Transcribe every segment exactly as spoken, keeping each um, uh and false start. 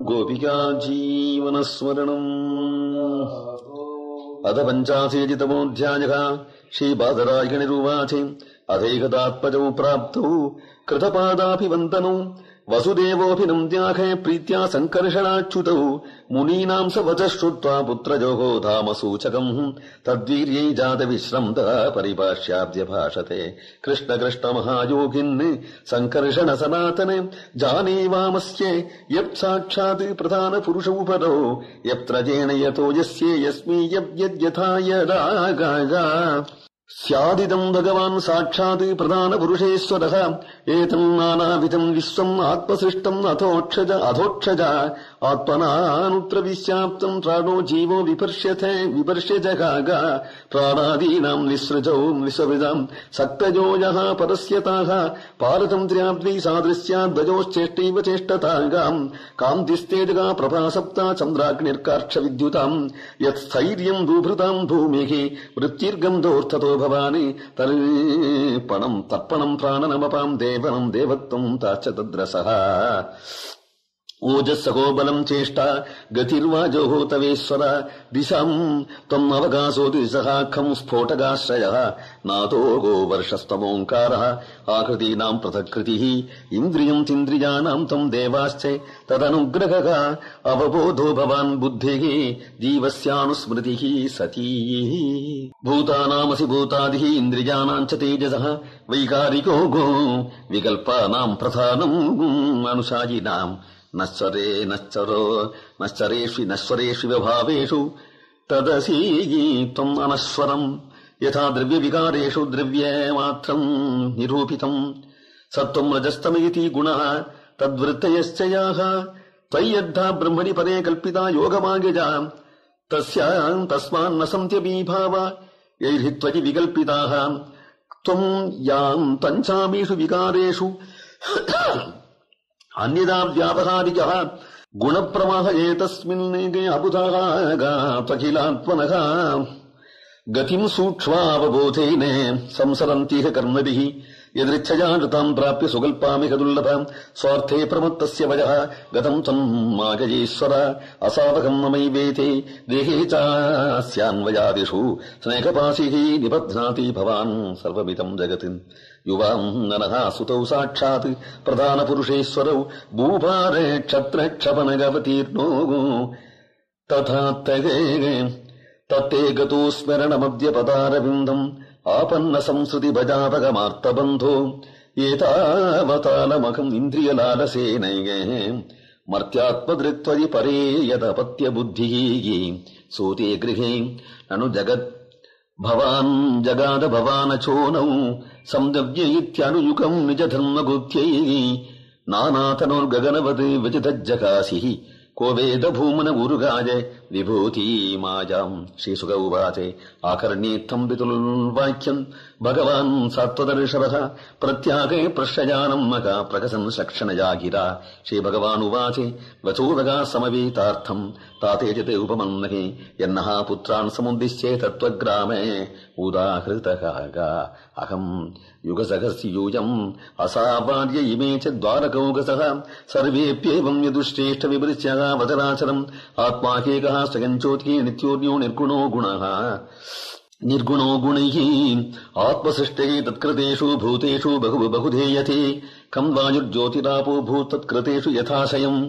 गोपिका जीवनस्मरणम् अथ पञ्चाशीतितमोऽध्यायः। श्रीबादरायणिरुवाच अथैकदात्मजौ प्राप्तौ कृतपादाभिवन्दनौ वसुदेवोऽभिनन्द्याखे प्रीत्या सङ्कर्षणाच्युतौ मुनीनाम् स वचः श्रुत्वा पुत्रजोः धामसूचकम् तद्वीर्यै जातविश्रम्तः परिभाष्याद्यभाषते। कृष्ण कृष्ण महायोगिन् सङ्कर्षण सनातने जाने वामस्ये यत् साक्षात् प्रधानपुरुषौ परो यत्र जेन यतो यस्ये यस्मै यद्यथा यदागा स्यादिदम् भगवान् साक्षात् प्रधानपुरुषेश्वरः एतम् नानाविधम् विश्वम् आत्मसृष्टम् अथोक्षज अधोक्षज आत्मनानुत्र विश्याप्तम् प्राणो जीवो विपर्ष्यते विपर्ष्यजगाग प्राणादीनाम् विसृजौ विसृजाम् सक्तजो यः परस्यताः पारतन्त्र्याद्वै सादृश्याद्वयोश्चेष्टैव चेष्टतागाम् कान्तिस्तेजगा प्रभासप्ता चन्द्राग्निर्कार्क्षविद्युताम् यत्स्थैर्यम् दूभृताम् भूमिः वृत्तिर्गन्धोऽर्थतो भवानि तर्पणम् तर्पणम् प्राणनमपाम् देवनम् देवत्वम् ताश्च तद्रसः ओजस्सहो बलम् चेष्टा गतिर्वाजोः तवेश्वर दिशाम् त्वम् अवकाशो दिशहाखम् स्फोटकाश्रयः नातो गो वर्षस्तमोङ्कारः आकृतीनाम् पृथक्कृतिः इन्द्रियम् तिन्द्रियाणाम् त्वम् देवाश्च तदनुग्रहः अवबोधो भवान् बुद्धिः जीवस्यानुस्मृतिः सती भूतानामसि भूतादिः इन्द्रियाणाम् च तेजसः वैकारिको गो विकल्पानाम् प्रधानम् अनुशायिनाम् नश्वरे नश्चरो नश्चरेष्वि नश्वरेष्वि व्यभावेषु तदसि त्वम् अनश्वरम् यथा द्रव्यविकारेषु द्रव्यमात्रम् निरूपितम् सत्त्वम् रजस्तमयति गुणः तद्वृत्तयश्च याः त्वय्यद्धा ब्रह्मणि परे कल्पिता योगमार्गजा तस्याम् तस्मान्न सन्त्यपीभाव यैर्हि त्वयि विकल्पिताः त्वम् याम् पञ्चामीषु विकारेषु अन्यदा व्यापहारिकः गुणप्रवाह एतस्मिन् अबुधाः त्वखिलात्मनः गतिम् सूक्ष्मावबोधेन संसरन्तीह कर्मभिः यदृच्छया नृताम् प्राप्य सुकल्पामिह दुर्लभम् स्वार्थे प्रमत्तस्य वयः गतम् त्वम् मागयेश्वर असावकम् ममैवेते देहे चास्यान्वयादिषु स्नेहपाशिः निबध्नाति भवान् सर्वमिदम् जगत् युवाम् नरः सुतौ साक्षात् प्रधानपुरुषेश्वरौ भूभारे क्षत्रक्षपनगवतीर्णो तथा तत्ते गतो स्मरणमद्यपदारविन्दम् आपन्न संसृति भजापगमार्तबन्धो एतावतालमखम् इन्द्रियलालसेनैः मर्त्यात्मदृक्त्वयि परे यदपत्यबुद्धिः सूते गृहे ननु जगत् भवान् जगाद भवानचोनौ संदव्य इत्यानुयुगम् निजधर्मगुप्त्यै नानातनोर्गगनवत् विचितज्जकासिः को वेद भूमन उरुगाय विभूति मायाम् श्रीसुक उवाच आकर्ण्येत्थम् वितुल्वाक्यम् भगवान् सात्वदर्शवः प्रत्यागे प्रश्यजानम् मका प्रकसन् शक्षणया गिरा श्रीभगवानुवाच वचोदगा समवेतार्थम् तातेजते उपमन्महे यन्नः पुत्रान् समुद्दिश्ये तत्त्वग्रामे उदाहृतः अहम् युगसहस्य यूयम् असावार्य इमे च द्वारकौगसः सर्वेऽप्येवम् यदुश्रेष्ठ विवृश्यः वचनाचरम् आत्मा ह्येकः स्वयञ्चोतिः नित्योऽन्यो निर्गुणो गुणः निर्गुणो गुणैः आत्मसृष्टिः तत्कृतेषु भूतेषु बहु बहुधेयते कम् वायुर्ज्योतिरापो भूतत्कृतेषु यथाशयम्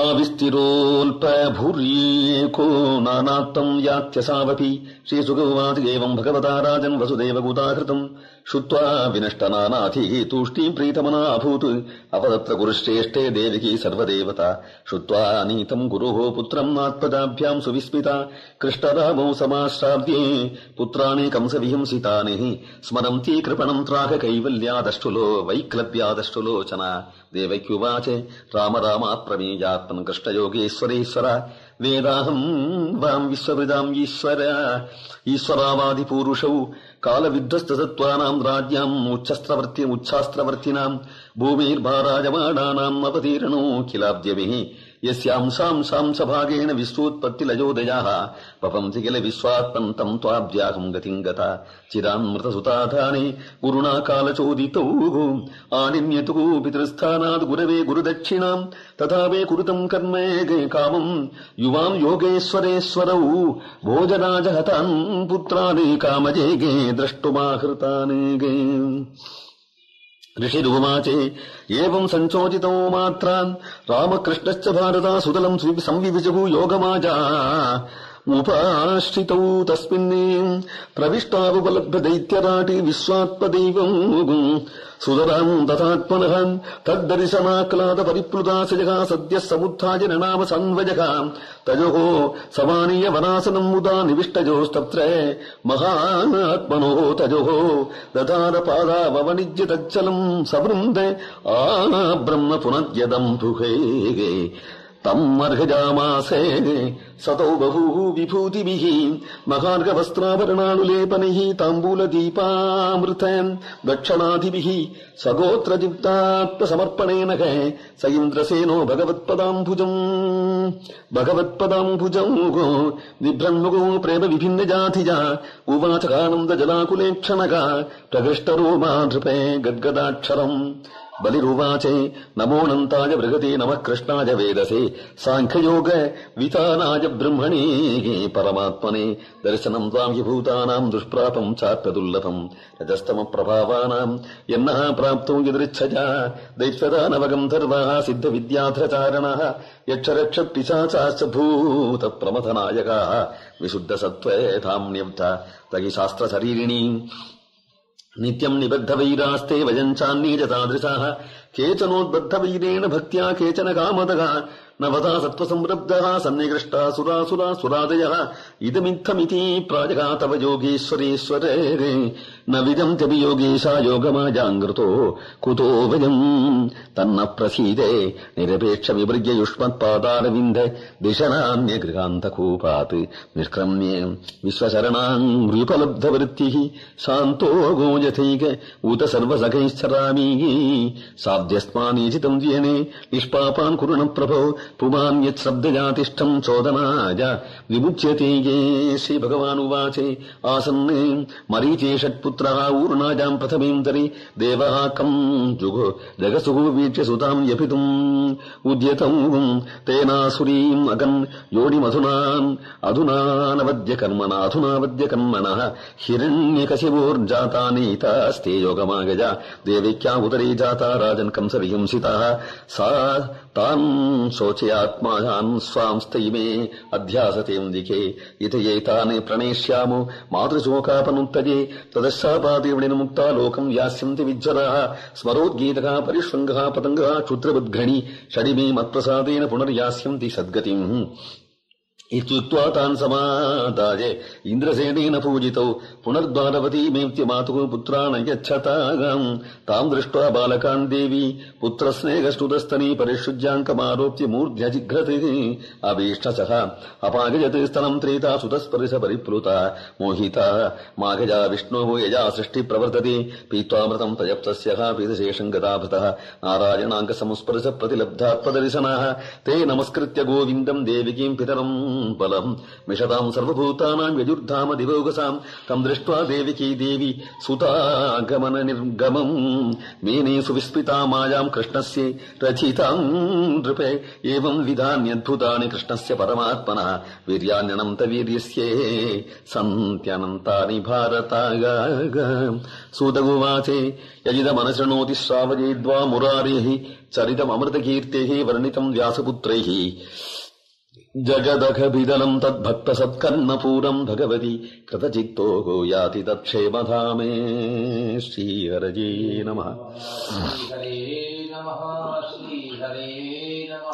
आविस्तिरोऽल्पभूर्येको नानात्तम् यात्यसावपि श्रीसुगौवाच एवम् भगवता राजन् वसुदेवगुदाहृतम् श्रुत्वा विनष्टनानाथिः तूष्णीम् प्रीतमना अभूत् अपदत्र गुरुश्रेष्ठे देविकी सर्वदेवता श्रुत्वा नीतम् गुरोः पुत्रम् आत्मजाभ्याम् सुविस्मिता कृष्णरामौ समाश्राव्ये पुत्राणि कंसविहिंसितानि स्मरन्ती कृपणम् त्राह कैवल्यादष्टुलो वैक्लव्यादष्टुलोचना देवक्युवाच राम रामा प्रमेयात्मन् कृष्णयोगेश्वरेश्वर वेदाहम् वाम् विश्ववृदाम् ईश्वर ईश्वरावादिपूरुषौ कालविध्वस्तसत्त्वानाम् राज्याम् उच्छस्त्रवर्ति उच्छास्त्रवर्तिनाम् भूमिर्भाराजमाणानाम् अवतीर्णो किलाब्ध्यभिः यस्यांसां सांसभागेन विश्वोत्पत्तिलयोदयाः पपंसि किल विश्वात्मन्तं त्वाब्जाहं गतिं गता चिरान्मृतसुताधाने गुरुणा कालचोदितौ आनिन्यतु पितृस्थानात् गुरवे गुरुदक्षिणां तथा वे कुरुतं कर्म कामं युवां योगेश्वरेश्वरौ भोजराजहतान् पुत्रान् कामजेगे द्रष्टुमाहृतान् ऋषिरुवाचे एवं संचोदितो मात्रान् रामकृष्णश्च भारता सुतलं संविविजगु योगमाजा उपाश्रितौ तस्मिन् प्रविष्टावुपलभ्य दैत्यराटे विश्वात्मदैवम् सुतराम् तथात्मनः तद्दर्शनाक्लाद परिप्लुता सजगा सद्यः समुत्थाय ननाम संवजगा तयोः समानीय वनासनम् मुदा निविष्टयोस्तत्र महात्मनोः तयोः दधार पादावनिज्य तच्चलम् सवृन्द आ ब्रह्म पुनद्यदम् दुहे तम् अर्हजामासे सतौ बहु विभूतिभिः महार्घवस्त्राभरणानुलेपनैः ताम्बूलदीपामृत दक्षिणादिभिः सगोत्रयुक्तात्मसमर्पणेन स इन्द्रसेनो भगवत्पदाम्बुजम् भगवत्पदाम्बुजम् बिभ्रन्मुगो प्रेम विभिन्नजातिजा उवाच आनन्दजलाकुलेक्षणगा प्रकृष्टरोमा नृपे गद्गदाक्षरम् बलिरुवाचे नमोऽनन्ताय बृहते नमः कृष्णाय वेदसे साङ्ख्ययोग वितानाय ब्रह्मणे परमात्मने दर्शनम् त्वाम् हि भूतानाम् दुष्प्रापम् चाप्यदुर्लभम् रजस्तमप्रभावानाम् यन्नः प्राप्तो यदृच्छया दैत्यदानवगन्धर्वाः सिद्धविद्याधरचारणः यक्षरक्षपिशाचाश्च भूतप्रमथनायकाः विशुद्धसत्त्वे धाम्न्यब्धा तहि शास्त्रशरीरिणी नित्यम् निबद्धवैरास्ते वयञ्चान्ये च तादृशाः केचनोद्बद्धवैरेण भक्त्या केचन कामदगा नवधा सत्त्वसंरब्धः सन्निकृष्टा सुरासुरा सुरादयः इदमित्थमिति प्राजगा तव योगेश्वरेश्वरे न विदम् च वियोगेशा योगमाजाङ्कृतो कुतो वयम् तन्न प्रसीदे निरपेक्ष विवृज्य युष्मत्पादारविन्द दिशनान्यगृहान्तकूपात् निष्क्रम्ये विश्वशरणाङ्ग्र्युपलब्धवृत्तिः शान्तो गोयथैक उत सर्वसखैश्चरामि साध्यस्मानीचितम् द्येने निष्पापान् कुरु न प्रभो पुमान्यच्छब्दजातिष्ठम् चोदनाय विमुच्यते ये श्रीभगवानुवाचे आसन्ने मरीचे षट्पुत्रः ऊर्णाजाम् प्रथमेन्तरि देवः कम् जुगो जगसुः वीक्ष्य सुताम् यपितुम् उद्यतम् तेनासुरीम् अगन् योनिमधुनान् अधुनानवद्यकर्मणा अधुनावद्यकर्मणः हिरण्यकशिवोर्जातानीतास्ते योगमागजा देविक्या उदरे जाता राजन् कंसविहिंसिताः सा तान् शोचयात्मान् स्वांस्तैमे अध्यासतेऽन्दिके इत एतान् प्रणेष्यामो मातृशोकापनुत्तजे तदशापादेवनिर्मुक्ता लोकम् यास्यन्ति विज्जराः स्मरोद्गीतः परिष्वङ्गः पतङ्गः क्षुद्रवद्घणी षडिमे मत्प्रसादेन पुनर्यास्यन्ति सद्गतिम् इत्युक्त्वा तान् समादाय इन्द्रसेनेन पूजितौ पुनर्द्वारवतीमेत्य मातुः पुत्रान् यच्छताम् ताम् दृष्ट्वा बालकान् देवी पुत्रस्नेहस्तुतस्तनी परिशुज्याङ्कमारोप्य मूर्ध्यजिघ्रतिः अभीष्टसः अपागजत् स्तनम् त्रेता सुतस्पर्श परिप्लुता मोहिता माघजा विष्णोः यजा सृष्टिप्रवर्तते पीत्वामृतम् तजप्तस्यः पीतशेषम् गदाभृतः नारायणाङ्कसंस्पर्श प्रतिलब्धात्मदर्शनाः ते नमस्कृत्य गोविन्दम् देविकीम् पितरम् बलम् मिषताम् सर्वभूतानाम् यजुर्धाम दिवोगसाम् तम् दृष्ट्वा देविकी देवी सुतागमन निर्गमम् मेने सुविस्मिता मायाम् कृष्णस्य रचिताम् नृपे एवम् विधान्यद्भुतानि कृष्णस्य परमात्मनः वीर्यान्यनन्त वीर्यस्ये सन्त्यनन्तानि भारताग सूतगुवाचे यजिदमनशृणोति श्रावयेद्वा मुरारेः चरितममृतकीर्तेः वर्णितम् व्यासपुत्रैः जगदखभिदलम् तद्भक्तसत्कर्णपूरम् भगवति कृतचित्तो याति तत्क्षेमधामे श्रीहरये नमः। श्रीहरे नमः। श्रीहरे नमः।